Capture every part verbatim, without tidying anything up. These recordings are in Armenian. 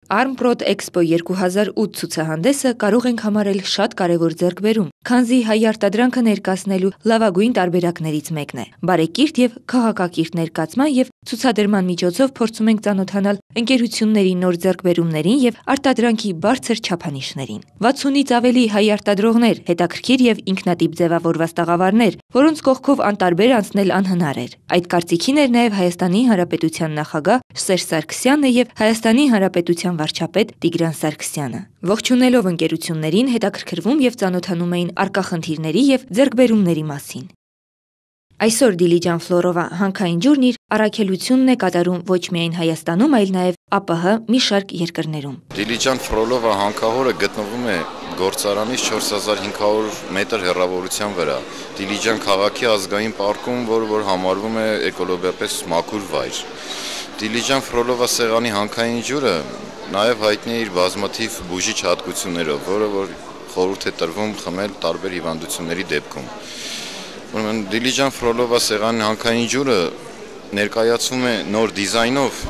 Armprod Expo երկու հազար ութ ցուցահանդեսը կարող ենք համարել շատ կարևոր ձեռքբերում, քանզի հայ արտադրանքը ներկայացնելու լավագույն տարբերակներից մեկն է։ Բարեկիրթ եւ քաղաքակիրթ ներկայացման եւ ցուցադրման միջոցով փորձում ենք ծանոթանալ ընկերությունների նոր ձեռքբերումներին եւ արտադրանքի բարձր չափանիշներին։ վաթսունից ավելի հայ արտադրողներ, հետաքրքիր եւ ինքնատիպ ձևավորված տաղավարներ, որոնց կողքով անտարբեր անցնել անհնար էր։ Այդ կարծիքին էր նաեւ Հայաստանի Հանրապետության նախագահ Սերժ Սարգսյանը եւ Հայաստանի Հանրապետության վարչապետ Տիգրան Սարգսյանը։ Ողջունելով ընկերություններին, հետաքրքրվում եւ ծանոթանում էին առկա խնդիրների եւ ձեռքբերումների մասին։ Այսօր Դիլիջան Ֆլորովա հանքային ջուրն իր առաքելությունն է կատարում ոչ միայն Հայաստանում, այլ նաեւ ԱՊՀ մի շարք երկրներում։ Դիլիջան Ֆլորովա հանքահորը գտնվում է գործարանից չորս հազար հինգ հարյուր մետր հեռավորության վրա։ Դիլիջան քաղաքի ազգային պարկում, որը որ համարվում է էկոլոգիապես մաքուր վայր։ Դիլիջան Ֆրոլովա սեղանի հանքային ջուրը նաև հայտնի է իր բազմաթիվ բուժիչ հատկություններով, որը որ խորհուրդ է տրվում խմել տարբեր հիվանդությունների դեպքում։ Ուրեմն Դիլիջան Ֆրոլովա սեղանի հանքային ջուրը ներկայացվում է նոր դիզայնով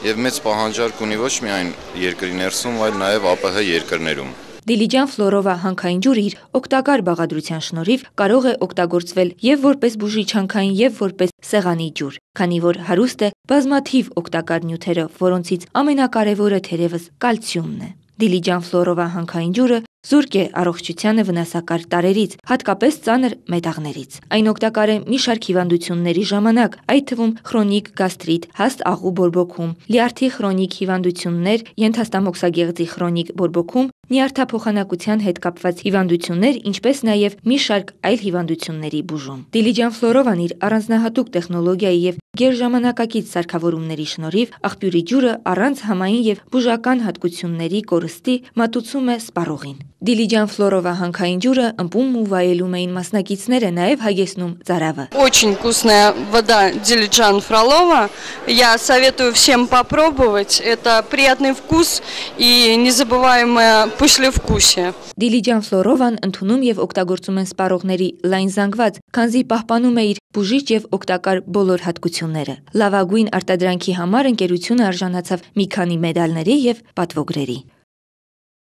եւ մեծ պահանջարկ ունի ոչ միայն երկրի ներսում, այլ նաև ԱՊՀ երկրներում։ Դիլիջան Ֆլորովա հանքային ջուրը իր օգտակար բաղադրության շնորհիվ կարող է օգտագործվել եւ որպես բուժիչ հանքային եւ որպես սեղանի ջուր, քանի որ հարուստ է բազմաթիվ օգտակար նյութերով, որոնցից ամենակարևորը թերևս կալցիումն է։ Դիլիջան Ֆլորովա հանքային ջուրը զուրկ է առողջությանը վնասակար տարրերից, հատկապես ծանր մետաղներից։ Այն օգտակար է մի շարք հիվանդությունների ժամանակ, այդ թվում քրոնիկ գաստրիտ, հաստ աղու բորբոքում, լյարդի քրոնիկ հիվանդություններ, ենթաստամոքսագեղձի քրոնիկ բորբոքում, նյարդափոխանակության հետ կապված հիվանդություններ, ինչպես նաև մի շարք այլ հիվանդությունների բուժում։ Դիլիջան Ֆլորովան իր առանձնահատուկ տեխնոլոգիայի եւ գերժամանակակից սարքավորումների շնորհիվ աղբյուրի ջուրը առանց համային եւ բուժական հատկությունների կորստի մատուցում է սպառողին։ Դիլիջան Ֆլորովա հանքային ջուրը ըմպում ու վայելում էին մասնակիցները, նաև հագեցնում ծարավը։ Очень вкусная вода Дилиджан Фролова. Я советую всем попробовать. Это приятный вкус и незабываемое послевкусие. Դիլիջան Ֆլորովան ընդունում եւ օգտագործում են սպառողների լայն զանգված, քանզի պահպանում է իր բուժիչ եւ օգտակար բոլոր հատկությունները։ Լավագույն արտադրանքի համար ընկերությունը արժանացավ մի քանի մեդալների եւ պատվոգրերի։